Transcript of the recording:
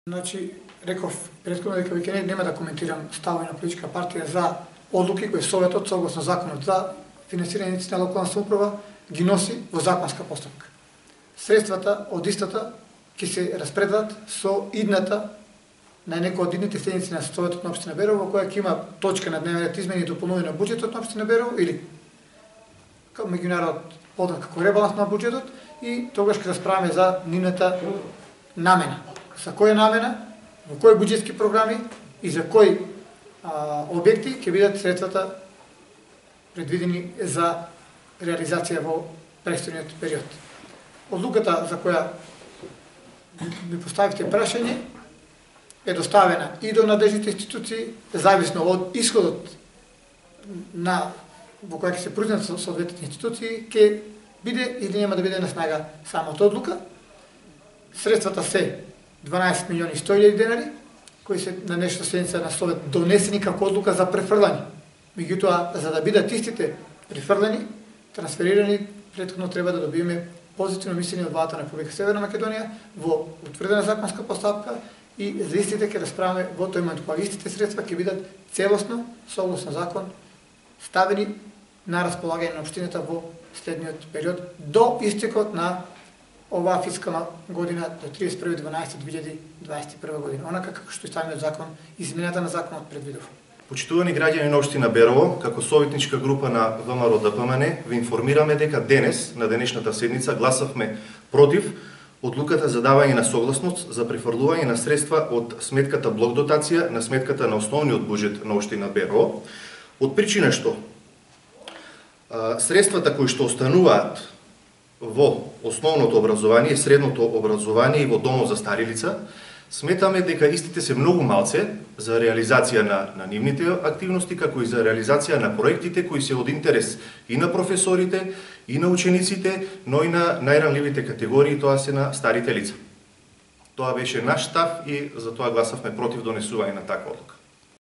Значи, реков претходно дека веќе нема да коментирам ставови на политичка партија за одлуки кои Советот согласно законот за финансирање на локална самоуправа ги носи во законска постапка. Средствата од истата ќе се распределат со идната на некој од идните седници на Советот на општина Берово, во која ќе има точка на дневен ред измени и дополнување на буџетот на општина Берово или како меѓународ познат како ребаланс на буџетот и тогаш ќе расправаме за нивната намена. За која намена, во кои буџетски програми и за кои објекти ќе бидат средствата предвидени за реализација во престојниот период. Одлуката за која ми поставивте прашање е доставена и до надлежните институции, зависно од исходот на во која ќе се произнесат соодветните институции, ќе биде или нема да биде на снага самата одлука. Средствата се 12 милиони 100.000 денари, кои се на днешната седница на Совет донесени како одлука за префрлање. Меѓутоа, за да бидат истите префрлани, трансферирани, претходно треба да добиеме позитивно мислење од владата на Република Северна Македонија во утврдена законска постапка и за истите ќе расправаме во тој момент кога истите средства ќе бидат целосно, согласно закон, ставени на располагање на општината во следниот период до истекот на оваа фискална година до 31.12.2021 година, онака како што и самиот закон, измената на законот предвидува. Почитувани граѓани на општина Берово, како советничка група на ВМРО-ДПМН, ви информираме дека денес, на денешната седница, гласавме против одлуката за давање на согласност за префрлување на средства од сметката блок дотација на сметката на основниот буџет на општина Берово, од причина што средствата кои што остануваат во основното образование, средното образование и во домот за стари лица, сметаме дека истите се многу малце за реализација на нивните активности, како и за реализација на проектите кои се од интерес и на професорите, и на учениците, но и на најранливите категории, тоа се на старите лица. Тоа беше наш став и затоа гласавме против донесување на таква одлука.